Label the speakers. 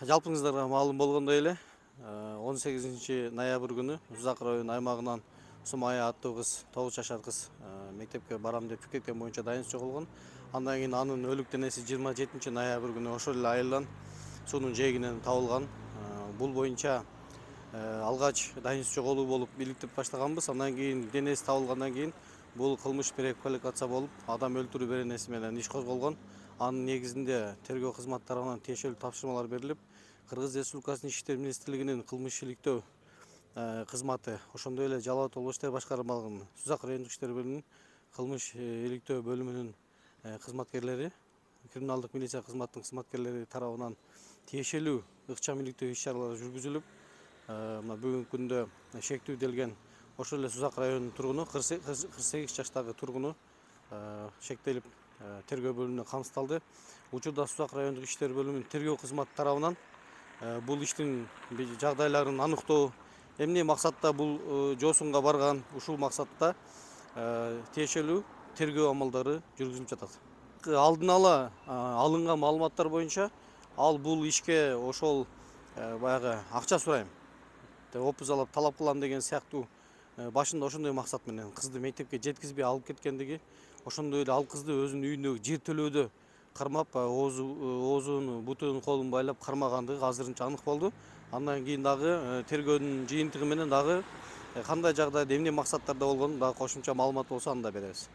Speaker 1: Жалпыңыздарга маалым болгондой эле 18-ноябрь күнү Узак район аймагынан Сумая аттуу кыз, 9 жашар кыз мектепке барам деп пикеткен боюнча дайын чогулган. Андан кийин анын өлүк денеси 27-ноябрь күнү ошол эле айылдан суунун жээгинен табылган. Бул боюнча алгач дайын чогулуу болуп иликтип баштаганбыз. Андан кийин денеси табылгандан кийин бул кылмыш преквалификация болуп, адам өлтүрүү беренеси менен иш козголгон. Анын негизинде тергөө кызматы тарабынан тиешелүү тапшырмалар берилип, Кыргыз Республикасынын Ички иштер министрлигинин кылмыш иликтөө кызматы, ошондой эле Жалал абад облус иштер башкармалыгынын Сузак райондук иштер бөлүмүнүн кылмыш иликтөө бөлүмүнүн кызматкерлери, криминалдык милиция кызматынын кызматкерлери тарабынан тиешелүү ыкчам иликтөө иш-чаралары жүргүзүлүп, мына бүгүнкү күндө шектүүделген ошол эле Сузак районунун тургуну 48 жаштагы тургуну шектелип тергөө бөлүмүнө камсыздалды. Учурда Сузак райондук иштер бөлүмүнүн тергөө кызматы тарабынан бул иштин жагдайларын аныктоо, эмне максатта бул жоосунга барган, ушул максатта тиешелүү тергөө амалдары жүргүзүлүп жатат. Алдын ала алынган маалыматтар боюнча ал бул ишке ошол баягы акча сурайм деп опузалап талап кылам деген сыяктуу башында ошондой максат менен кызды мектепке жеткизбей алып кеткендиги, ошондой эле ал кызды өзүнүн үйүндөгү жер төлөөдө кармап, оозун, бутун, колун байлап кармагандыгы азырынча анык болду. Андан кийин дагы тергөөнүн жыйынтыгы менен дагы кандай жагдайда эмне максаттарда болгонун дагы кошумча маалымат болсо аны да беребиз.